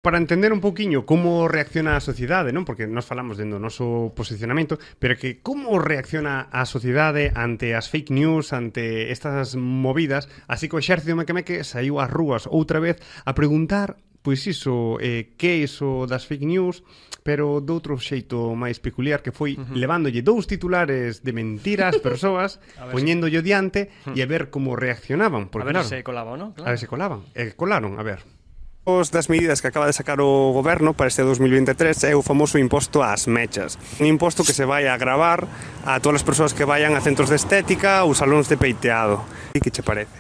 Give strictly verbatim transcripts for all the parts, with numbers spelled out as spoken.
Para entender un pouquiño como reacciona a sociedade, non? Porque nós falamos dentro do noso posicionamento, pero que como reacciona a sociedade ante as fake news, ante estas movidas, así que o exército mequemeque saiu ás rúas outra vez a preguntar, pois iso, eh, que é iso das fake news, pero de outro xeito máis peculiar, que foi uh -huh. levándolle dous titulares de mentira ás persoas, poñéndolle diante uh -huh. e a ver como reaccionaban. Porque, a ver claro, se colaban, non? A Claro. ver se colaban. E colaron, a ver. Os das medidas que acaba de sacar o goberno para este dos mil veintitrés é o famoso imposto ás mechas. Un imposto que se vai a gravar a todas as persoas que vayan a centros de estética ou salóns de peiteado. E que che parece?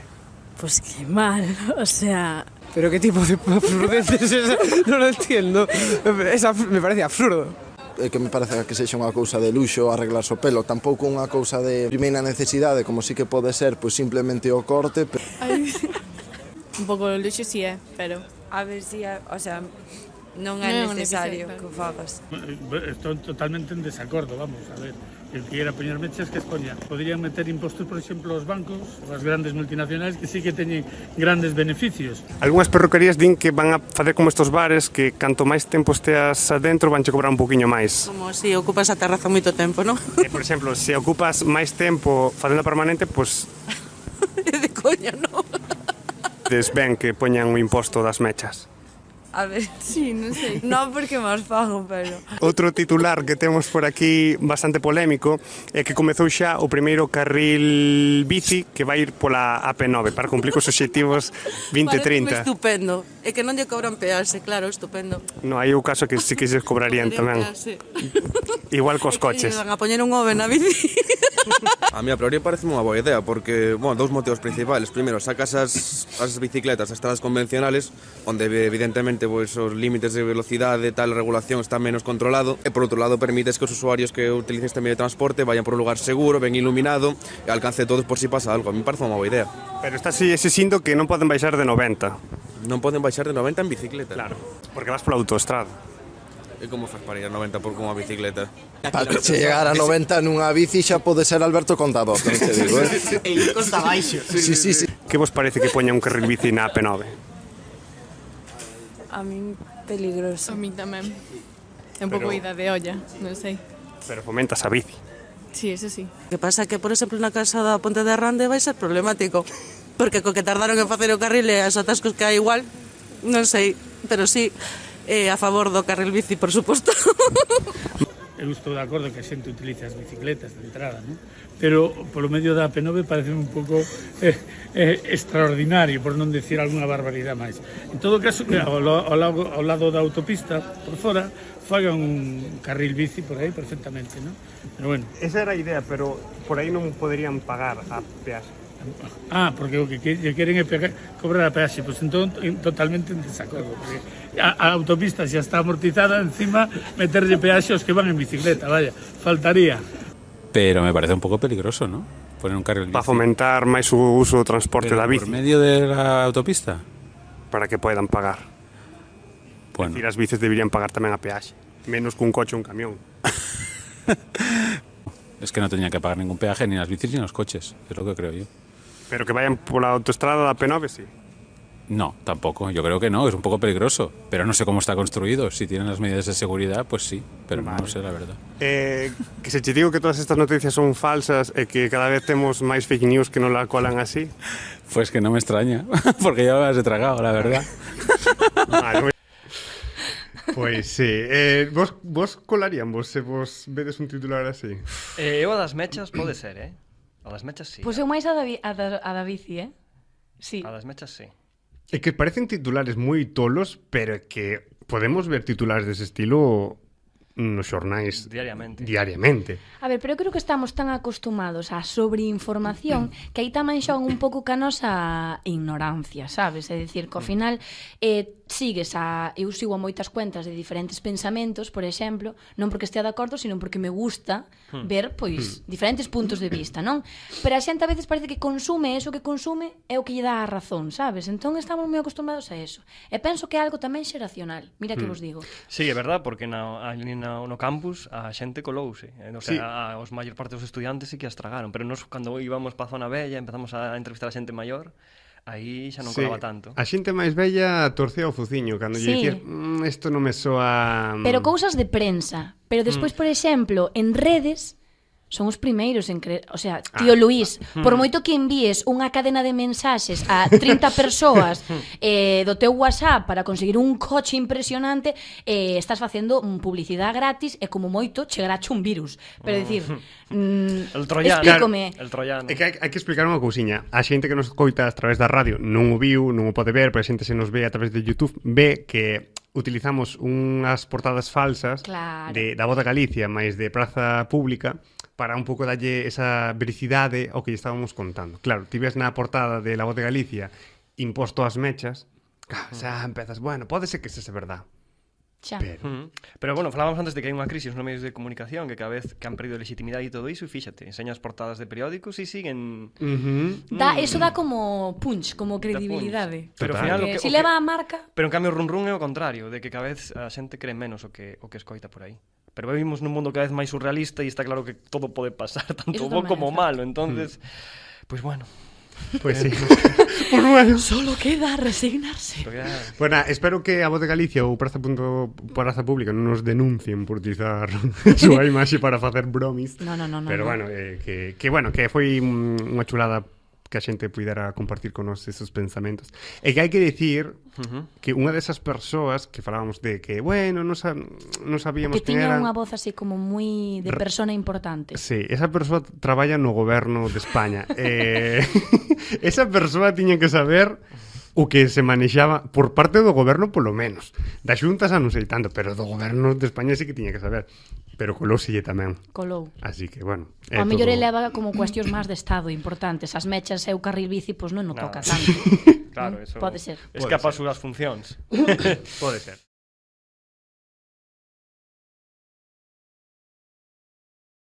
Pues que mal, o sea... ¿Pero qué tipo de absurdeces es esa? No lo entiendo. Es me parece absurdo. É que me parece que sexa unha cousa de luxo arreglarse o pelo, tampouco unha cousa de primeira necesidade, como si que pode ser, pois simplemente o corte. Ay, un pouco de luxo si é, pero... A ver si, o sea, non é necesario que o fagas. Estou totalmente en desacordo, vamos, a ver. El que quiera poñer mechas que expoña. Podrían meter impostos, por exemplo, aos bancos, as grandes multinacionais que sí que teñen grandes beneficios. Algúnas perruquerías din que van a facer como estos bares que canto máis tempo esteas adentro vanche cobrar un poquinho máis. Como se ocupas a terraza moito tempo, non? Eh, por exemplo, se ocupas máis tempo facendo permanente, pois... É de coña, non? Des ben que poñan o imposto das mechas. A ver, sí, non sei. Non porque máis fago, pero... Outro titular que temos por aquí bastante polémico é que comezou xa o primeiro carril bici que vai ir pola A P nove para cumplir cos obxectivos vinte trinta. Parece estupendo. É que non lle cobran peaxe, claro, estupendo. No, hai o caso que sí que se cobrarían tamén. Igual cos coches. Van a poñer un ove na bici. A mí a priori parece unha boa idea porque, bueno, dous motivos principales. Primeiro, sacas as, as bicicletas, as estradas convencionales, onde evidentemente pues, os límites de velocidade, tal regulación está menos controlado, e por outro lado permites que os usuarios que utilicen este medio de transporte vayan por un lugar seguro, ben iluminado e alcance todos por si pasa algo. A mí me parece unha boa idea. Pero está así ese sinto que non poden baixar de noventa. Non poden baixar de noventa en bicicleta. Claro, porque vas pola autoestrada. E como faz para ir a noventa por unha bicicleta? Para chegar a noventa nunha bici xa pode ser Alberto Contador, non te digo, eh? E ir conta baixo. Sí, sí, sí. Que vos parece que poña un carril bici na A P nove? A min peligroso. A min tamén. É un pouco ida de olla, non sei. Pero fomentas a bici. Sí, eso sí. O que pasa que, por exemplo, na casa da Ponte de Arrande vai ser problemático. Porque co que tardaron en facer o carril e as atascos que hai igual, non sei, pero sí, eh, a favor do carril bici, por suposto. Eu estou de acordo que a xente utilice as bicicletas de entrada, non? Pero polo medio da A P nove parece un pouco eh, eh, extraordinario, por non decir alguna barbaridade máis. En todo caso, que ao, ao, lado, ao lado da autopista, por fora, fagan un carril bici por aí perfectamente, non? Pero bueno. Esa era a idea, pero por aí non poderían pagar a peaxe. Ah, porque o que lle queren é pegar, cobrar a peaxe, pois entón totalmente en desacordo, porque a, a autopista xa está amortizada, encima meterlle peaxe aos que van en bicicleta, vaya, faltaría. Pero me parece un pouco peligroso, ¿no? Poner un carril bici. Para fomentar máis o uso do transporte Pero da bici. por medio de la autopista? Para que poidan pagar. Bueno. Es decir, as bicis deberían pagar tamén a peaxe, menos que un coche ou un camión. Es que no tenían que pagar ningún peaje ni las bicis ni los coches, es lo que creo yo. Pero que vayan pola autoestrada da A P nove, sí. No, tampoco, yo creo que no, es un poco peligroso, pero no sé cómo está construido, si tienen las medidas de seguridad, pues sí, pero vale. No sé la verdad. Eh, que se che digo que todas estas noticias son falsas e que cada vez temos máis fake news que non la colan así. Pues que no me extraña, porque ya me las he tragado, la verdad. Vale, pois sí, eh, vos, vos colarían vos se vos vedes un titular así? Eh, eu a das mechas pode ser, eh? A das mechas sí. Pois eu máis a da, a da, a da bici, eh? Sí. A das mechas sí. É que parecen titulares moi tolos, pero é que podemos ver titulares dese estilo nos xornais diariamente. diariamente. A ver, pero eu creo que estamos tan acostumados á sobreinformación que aí tamén xogan un pouco ca nosa ignorancia, sabes? É dicir, que ao final eh, sigues a... Eu sigo a moitas cuentas de diferentes pensamentos, por exemplo, non porque estea de acordo, sino porque me gusta ver, pois, diferentes puntos de vista, non? Pero a xente a veces parece que consume eso que consume é o que lle dá a razón, sabes? Entón estamos moi acostumbrados a eso. E penso que é algo tamén xeracional. Mira que vos digo. Sí, é verdad, porque na, ali na, no campus a xente colouse. O sea, sí. a, a, os maior parte dos estudiantes sí que as tragaron, pero nos, cando íbamos pa zona bella, empezamos a entrevistar a xente maior, aí xa non Sí. colaba tanto. A xente máis bella torcía o fuciño cando lle Sí. dicías "Mm, isto non me soa... mm". Pero cousas de prensa. Pero despois, por exemplo, en redes son os primeiros en creer, o sea, tío Luís, por moito que envíes unha cadena de mensaxes a trinta persoas eh, do teu WhatsApp para conseguir un coche impresionante, eh, estás facendo mm, publicidade gratis e como moito chegarache un virus. Pero dicir, mm, El troyano. explícome. El troyano. É que hai, hai que explicar unha cousiña. A xente que nos coita a través da radio non o viu, non o pode ver, pero a xente se nos ve a través de YouTube ve que utilizamos unhas portadas falsas Claro. de, da Voz de Galicia, máis de Praza Pública, para un pouco dalle esa vericidade ao que lle estábamos contando. Claro, ti ves na portada de La Voz de Galicia imposto as mechas, claro, xa empezas, bueno, pode ser que sese verdad. Xa. Pero, Mm. Pero bueno, falábamos antes de que hai unha crisis nos medios de comunicación que cada vez que han perdido legitimidade e todo iso, e fíxate, enseñas portadas de periódicos e siguen... uh-huh. Da, Mm. eso dá como punch, como credibilidade. Pero ao Total. final o Que que, si o leva que, a marca, pero en cambio run run é o contrario, de que cada vez a xente cree menos o que o que escoita por aí. Pero vivimos nun mundo cada vez máis surrealista e está claro que todo pode pasar, tanto Eso bo tamén como é malo, entonces, pues bueno, Pois sí. Pues bueno. solo queda resignarse. porque, ah, Bueno, espero que a Voz de Galicia ou Praza, punto, Praza Pública non nos denuncien por utilizar a súa imaxe para facer bromis. No, no, no, no. Pero no. bueno, eh, que, que bueno, que foi mm, unha chulada que a xente pudera compartir con nos esos pensamentos. E que hai que dicir uh-huh. que unha desas persoas que falábamos de que, bueno, non, sa non sabíamos Que quen tiña eran... unha voz así como moi de persona importante. Sí, esa persoa traballa no goberno de España. eh, esa persoa tiña que saber o que se manexaba por parte do goberno polo menos. Da Xunta xa non sei tanto, pero do goberno de España sí que tiña que saber. Pero colóuselle tamén. Colou. Así que, bueno. A mellor eleva como cuestións máis de Estado importantes. As mechas e o carril bici, pois non o No. toca tanto. claro, eso Pode ser. escapa as Pode ser. súas funcións. Pode ser.